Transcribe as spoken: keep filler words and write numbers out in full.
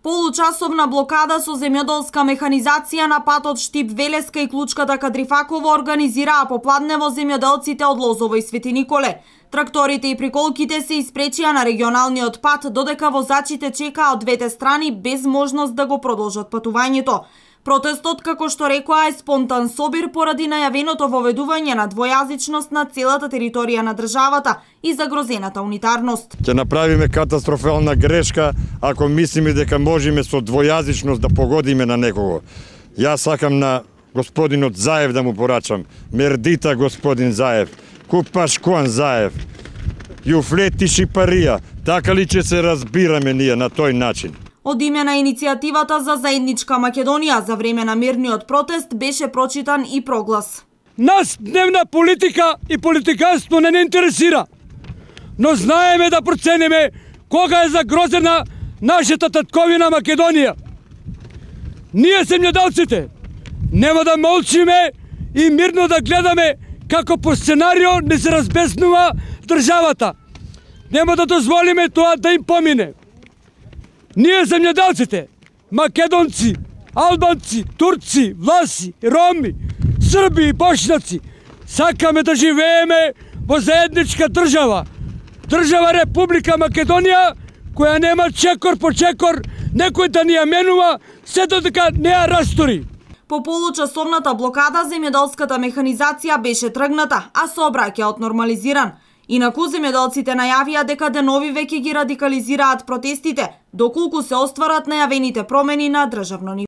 Получасовна блокада со земјоделска механизација на патот Штип-Велеска и Клучката Кадрифаково организираа попладнево земјоделците од Лозово и Свети Николе. Тракторите и приколките се испречија на регионалниот пат, додека возачите чекаа од двете страни без можност да го продолжат патувањето. Протестот, како што рекоа, е спонтан собир поради најавеното воведување на двојазичност на целата територија на државата и загрозената унитарност. Ќе направиме катастрофална грешка ако мислиме дека можеме со двојазичност да погодиме на некого. Јас сакам на господинот Заев да му порачам: мердита господин Заев, купаш куан Заев, јуфлети шипарија, така ли ќе се разбираме ние на тој начин? Од име на иницијативата за заедничка Македонија за време на мирниот протест беше прочитан и проглас. Нас дневна политика и политиканство не не интересира, но знаеме да процениме кога е загрозена нашата татковина Македонија. Ние земјоделците нема да молчиме и мирно да гледаме како по сценарио не се разбеснува државата. Нема да дозволиме тоа да им помине. Ние земјоделците, македонци, албанци, турци, власи, роми, срби и бошњаци, сакаме да живееме во заедничка држава. Држава Република Македонија, која нема чекор по чекор, некој да ни ја менува, се додека не ја растори. По получасовната блокада земјоделската механизација беше тргната, а сообраќајот нормализиран. Инаку земјоделците најавија дека денови веќе ги радикализираат протестите, доколку се остварат најавените промени на државно ниво.